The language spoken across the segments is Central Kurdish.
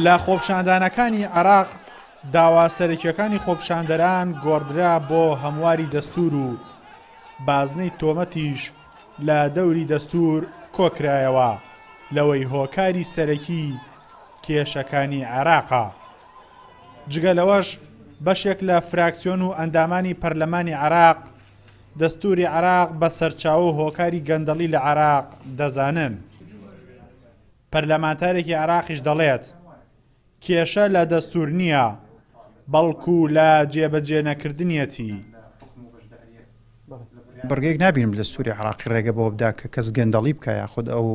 لە خۆپیشاندانەکانی عێراق داوا سەرەکییەکانی خۆپیشاندەران گۆڕدرا بۆ هەمواری دەستوور و بازنەی تۆمەتیش لە دەوری دەستوور کۆکرایەوە لەوەی هۆکاری سەرەکی کێشەکانی عێراقە. جگە لەوەش بەشێک لە فراکسیۆن و ئەندامانی پەرلەمانی عێراق دەستووری عێراق بە سەرچاوە و هۆکاری گەندەڵی لە عێراق دەزانن. پەرلەمانتارێکی عێراقیش دەڵێت، کێشە لە دەستوور نییە، بەڵکو لە جێبەجێنەکردنیەتی. بڕگەیەک نابینم لە دەستووری عێراقی ڕێگە بەوە بدا کە کەس گەندەڵی بکا یاخود ئەو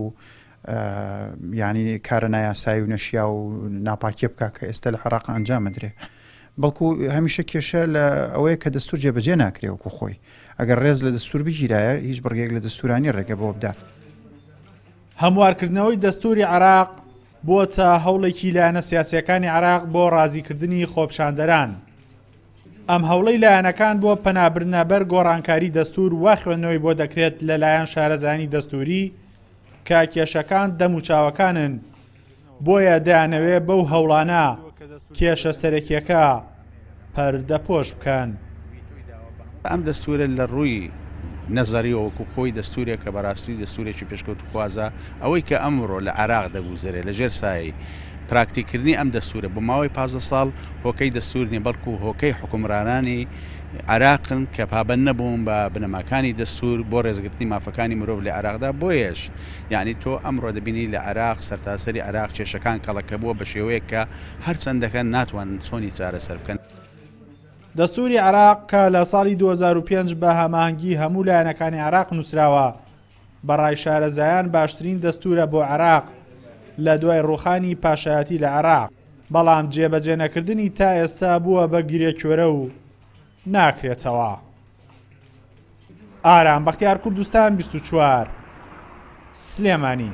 یانی کارە نایاسایی و نەشیاو و ناپاکیە بکا کە ئێستا لە عێراق ئەنجام ئەدرێ. بەڵکو هەمیشە کێشە لە ئەوەیە کە دەستوور جێبەجێ ناکرێ وەکو خۆی. ئەگەر ڕێز لە دەستوور بگیرایە هیچ بڕگەیەک لە دەستوورا نییە ڕێگە بەوە بدا. هەموارکردنەوەی دەستووری عێراق بووەتە هەوڵێکی لایەنە سیاسییەکانی عێراق بۆ ڕازیکردنی خۆپیشاندەران. ئەم هەوڵەی لایەنەکان بۆ پەنابردنە بەر گۆڕانکاری دەستوور وا خوێندنەوەی بۆ دەکرێت لەلایەن شارەزایانی دەستووری کە کێشەکان دەموچاوەکانن، بۆیە دەیانەوێ بەو هەوڵانە کێشە سەرەکیەکە پەردەپۆش بکەن. ئەم دەستوورە لە ڕووی نەزەریەوە وەکو خۆی دەستوورێکە بەڕاستی دەستوورێکی پێشکەوتوخوازە، ئەوەی کە ئەمڕۆ لە عێراق دەگوزەرێ لە ژێر سایەی پراکتیککردنی ئەم دەستوورە بۆ ماوەی 15 ساڵ هۆکەی دەستوور نیە بەڵکو هۆکەی حوکمڕانانی عێراقن کە پابەند نەبوون بە بنەماکانی دەستوور بۆ ڕێزگرتنی مافەکانی مرۆڤ لە عێراقدا بۆیەش یانی تۆ ئەمڕۆ دەبینی لە عێراق سەرتاسەری عێراق کێشەکان کەڵەکە بووە بە شێوەیەک کە هەرچەند دەکەن ناتوانن چۆنی چارەسەر بکەن. دەستووری عێراق کە لە ساڵی 2005 بە هەماهەنگی هەموو لایەنەکانی عێراق نووسراوە، بە ڕای شارەزایان باشترین دەستوورە بۆ عێراق لە دوای ڕووخانی پاشایەتی لە عێراق، بەڵام جێبەجێنەکردنی تا ئێستا بووە بە گرێکوێرە و ناکرێتەوە. ئارام بەختیار کوردستان 24 سلێمانی.